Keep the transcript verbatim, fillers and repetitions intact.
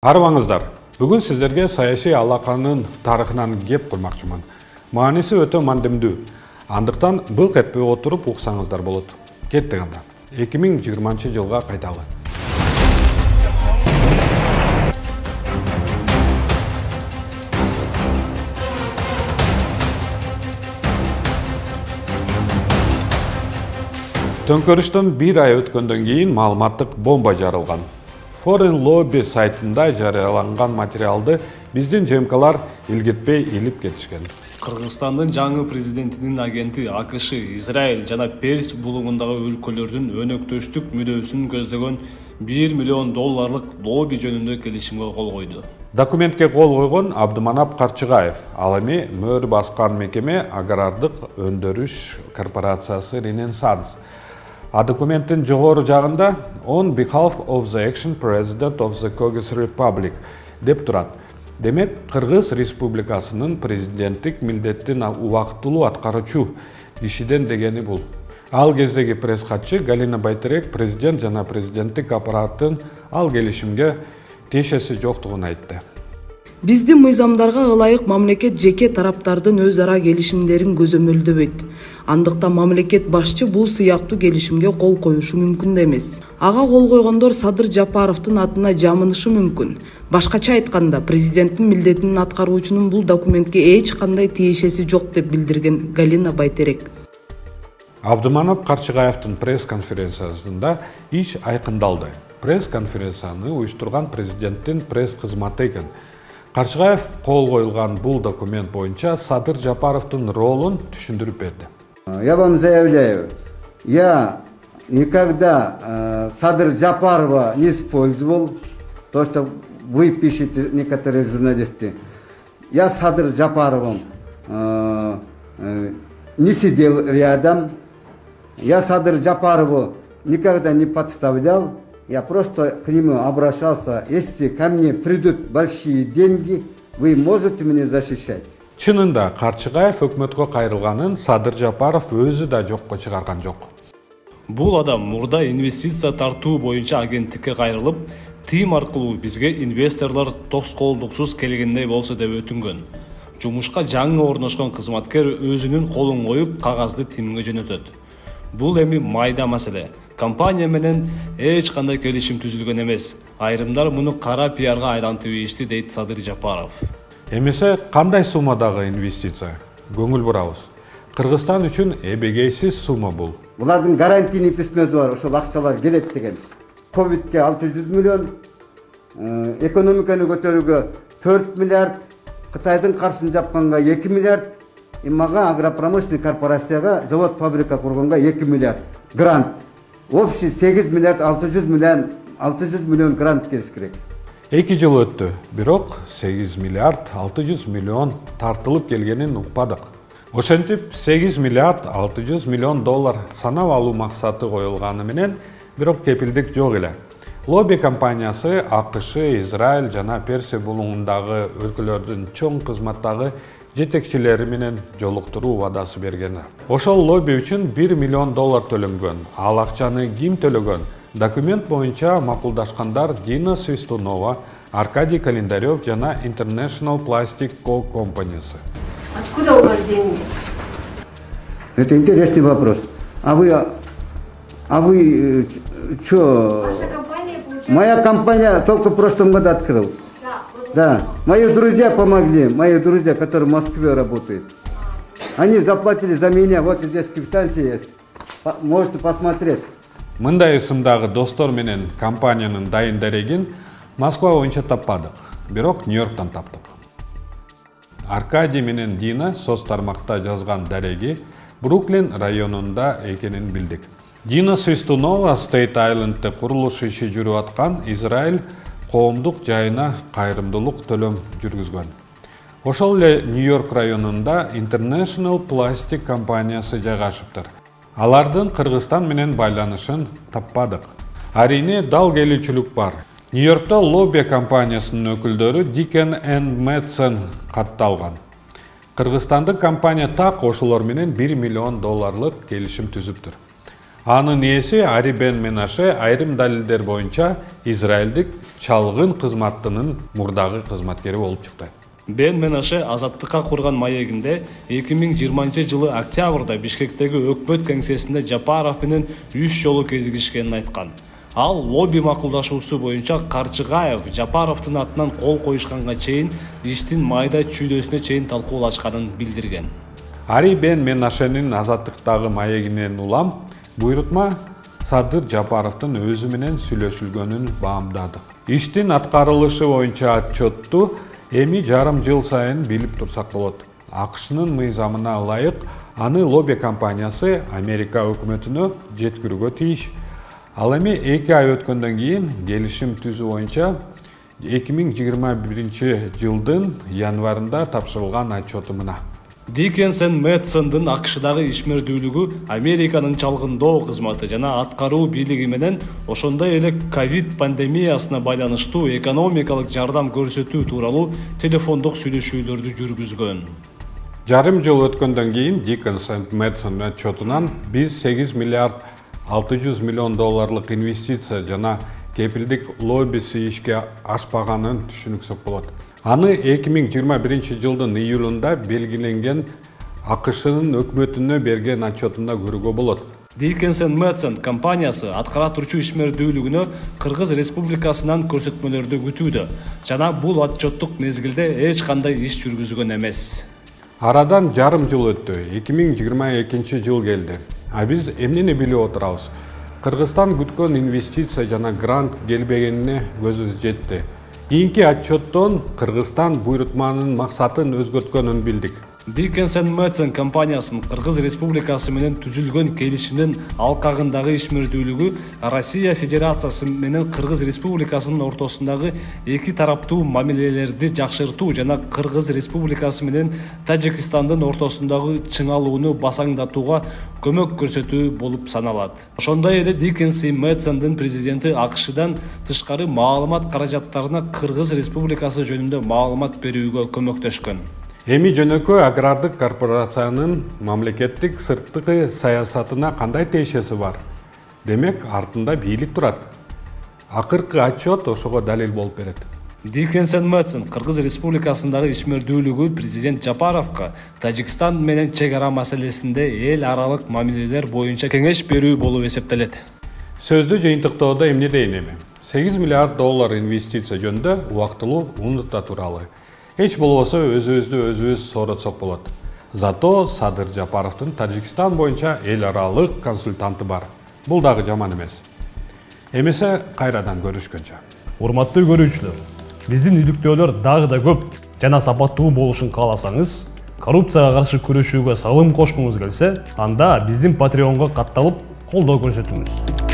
Арыбаңыздар, бүгүн сиздерге саясий алаканын тарыхынан кеп курмакчымын. Мааниси өтө мандымдуу. Андыктан былк этпей отуруп уксаңыздар болот. Кеттик анда. эки миң жыйырманчы жылга кайталы. Төңкөрүштөн бир ай өткөндөн кийин маалыматтык бомба жарылган. Foreign Lobby сайтында жарыяланган материалды биздин жемкалар илгитпей илип кетишкен. Кыргызстандын жаңы президентинин агенти АКШ, Израиль жана Перс булугундагы өлкөлөрдүн өнөктөштүк мүдөөсүн көздөгөн бир миллион долларлык лобби жөнүндө келишимге кол койду. Документке кол койгон Абдыманап Карчыгаев, ал эми мөр баскан мекеме Агрардык өндүрүш корпорациясы Ренессанс. А документтин жогору жагында on behalf of the action president of the Kyrgyz Republic деп турат. Демек, Кыргыз Республикасынын президенттик милдеттин убактылуу аткаруучу кишиден дегени бул. Ал кездеги пресс катчы Галина Байтерек президент жана президенттик аппараттын ал келишимге тиешеси жоктугун айтты. Биздин мыйзамдарга ылайык мамлекет жеке тараптардын өз ара келишимдерин көзөмөлдөбөйт. Андыктан мамлекет башчы бул сыяктуу келишимге кол коюшу мүмкүн да эмес. Ага кол койгондор Садыр Жапаровдун атына жамынышы мүмкүн. Башкача айтканда, президенттин милдетин аткаруучунун бул документке эч кандай тиешеси жок деп билдирген Галина Байтерек. Абдыманап Карчыгаевдин пресс-конференциясында иш айкындалды. Пресс-конференцияны уюштурган президенттин пресс-кызматы экен. Карчыгаев кол коюлган бул документ боюнча Садыр Жапаровдун ролун түшүндүрүп берди. Я вам заявляю, я никогда э, Садыр Жапарова не использовал, то, что вы пишете, некоторые журналисты. Я с Садыр Жапаровым э, э, не сидел рядом, я Садыр Жапарову никогда не подставлял. Я просто к нему обращался, если ко мне придут большие деньги, вы можете меня защищать. Чынында Карчыгаев өкмөткө кайрылганын Садыр Жапаров өзү да жокко чыгарган жок. Бул адам мурда инвестиция тартуу боюнча агенттикке кайрылып, тим аркылуу бизге инвесторлор тоскоолдуксуз келгендей болсо деп өтүнгөн. Жумушка жаңы орношкон кызматкер өзүнүн колун коюп, кагазды тимге жөнөтөт. Бул эми майда маселе. Компания менен эч кандай келишим түзүлгөн эмес. Айрымдар муну кара пиарга айлантып ийишти, дейт Садыр Жапаров. Эмесе кандай суммадагы инвестиция? Көңүл бурабыз. Кыргызстан үчүн эбегейсиз сумма бул. Булардын гарантийный письмеси бар, ошол акчалар келет деген. Ковидке алты жүз миллион, экономиканы көтөрүүгө төрт миллиард, Кытайдын каршысын жапканга эки миллиард, мага агропромышленный корпорацияга завод фабрика курганга эки миллиард грант. Общий сегиз миллиард алты жүз миллион алты жүз миллион грант келиш керек. эки жыл өттү, бирок сегиз миллиард алты жүз миллион тартылып келгенин укпадык. Ошентип сегиз миллиард алты жүз миллион доллар санап алуу максаты коюлганы менен, бирок кепилдик жок эле. Лобби компаниясы АКШ, Израиль жана Персия булугундагы өлкөлөрдүн чоң кызматтагы жетекчилери менен жолуктуруу убадасы берген. Ошол лобби үчүн бир миллион доллар төлөнгөн. Ал акчаны ким төлөгөн? Документ боюнча макулдашкандар Дина Свистунова, Аркадий Календарев жана International Plastic Co. компаниясы. Откуда у вас деньги? Это интересный вопрос. А вы, а вы что? Ваша компания получает... Моя компания только в прошлом году открыл. Да, вот Да, мои друзья помогли, мои друзья, которые в Москве работают. Они заплатили за меня, вот здесь квитанция есть. Можете посмотреть. Мындай ысымдагы достор менен компаниянын дайын дарегин Москва боюнча таппадык, бирок Нью-Йорктан таптык. Аркадий менен Дина соц тармакта жазган дареги Бруклин районунда экенин билдик. Дина Свистунова Стейт Айлендте курулуш иши жүрүп аткан Израиль коомдук жайына кайрымдуулук төлөм жүргүзгөн. Ошол эле Нью-Йорк районунда International Plastic компаниясы жайгашыптыр. Алардын Кыргызстан менен байланышын таппадык. Арине дал келүүчүлүк бар. Нью-Йоркто лобби компаниясынын өкүлдөрү Дикен энд Мэдсен катталган. Кыргызстандык компания так ошолор менен бир миллион долларлык келишим түзүптүр. Анын ээси Ари Бен Менаше айрым далилдер боюнча израилдик чалгын кызматынын мурдагы кызматкери болуп чыкты. Бен Менаше Азаттыкка курган маегинде эки миң жыйырманчы жылы октябрда Бишкектеги өкмөт кеңсесинде Жапаров менен үч жолу кезигишкенин айткан. Ал лобби макулдашуусу боюнча Карчыгаев Жапаровдун атынан кол коюшканга чейин иштин майда чүйдөсүнө чейин талкуулашканын билдирген. Ари Бен Менашенин Азаттыктагы маегинен улам буйрутма Садыр Жапаровдун өзү менен сүйлөшүлгөнүн баамдадык. Иштин аткарылышы боюнча отчетту эми жарым жыл сайын билип турсак болот. АКШнын мыйзамына ылайык аны лобби компаниясы Америка өкмөтүнө жеткирүүгө тийиш. Ал эми эки ай өткөндөн кийин келишим түзүү боюнча эки миң жыйырма биринчи жылдын январында тапшырылган отчету мына. Диккенсен Мэтсондун АКШдагы ишмердүүлүгү, Американын чалгындоо кызматы жана аткаруу бийлиги менен ошондой эле ковид пандемиясына байланыштуу экономикалык жардам көрсөтүү тууралуу телефондук сүйлөшүүлөрдү жүргүзгөн. Жарым жыл өткөндөн кийин Диккенсен Мэтсон отчетунан биз сегиз миллиард алты жүз миллион долларлык инвестиция жана кепилдик лоббиси ишке ашпаганын түшүнүксөк болот. Аны эки миң жыйырма биринчи жылдын июлунда белгиленген АКШнын өкмөтүнө берген отчетунда көрүүгө болот. Диккенсен Мэтсон компаниясы аткара турчу ишмердүүлүгүнө Кыргыз Республикасынан көрсөтмөлөрдү күтүүдө жана бул отчеттук мезгилде эч кандай иш жүргүзгөн эмес. Арадан жарым жыл өттү, эки миң жыйырма экинчи жыл келди. А биз эмнени билип отурабыз? Кыргызстан күткөн инвестиция жана грант келбегенине көзүбүз жетти. Кийинки отчеттон Кыргызстан буйрутманын максатын өзгөрткөнүн билдик. Диккенсен Мэтсон компаниясынын Кыргыз Республикасы менен түзүлгөн келишимдин алкагындагы ишмердүүлүгү Россия Федерациясы менен Кыргыз Республикасынын ортосундагы эки тараптуу мамилелерди жакшыртуу жана Кыргыз Республикасы менен Тажикстандын ортосундагы чыңалууну басаңдатууга көмөк көрсөтүү болуп саналат. Ошондой эле Диккенсен Мэтсондун президенти АКШдан тышкары маалымат каражаттарына Кыргыз Республикасы жөнүндө маалымат берүүгө көмөктөшкөн. Эми жөнөкөй агрардык корпорациянын мамлекеттик сырткы саясатына кандай тиешеси бар? Демек, артында бийлик турат. Акыркы отчет ошого далил болуп берет. Диккенсен Мэтсон Кыргыз Республикасындагы ишмердүүлүгү президент Жапаровго Тажикстан менен чек ара маселесинде эл аралык мамилелер боюнча кеңеш берүү болуп эсептелет. Сөздү жыйынтыктоодо эмне дейин эми? сегиз миллиард доллар инвестиция жөнүндө убактылуу унута туралы. Эч болбосо өзүбүздү өзүбүз сооротсок болот. Зато Садыр Жапаровдун Тажикстан боюнча эл аралык консультанты бар. Бул дагы жаман эмес. Эмесе кайрадан көрүшкөнчө. Урматтуу көрүүчүлөр, биздин иликтөөлөр дагы да көп жана сапаттуу болушун кааласаңыз, коррупцияга каршы күрөшүүгө салым кошкуңуз келсе, анда биздин Patreon'га катталып колдоо көрсөтүңүз.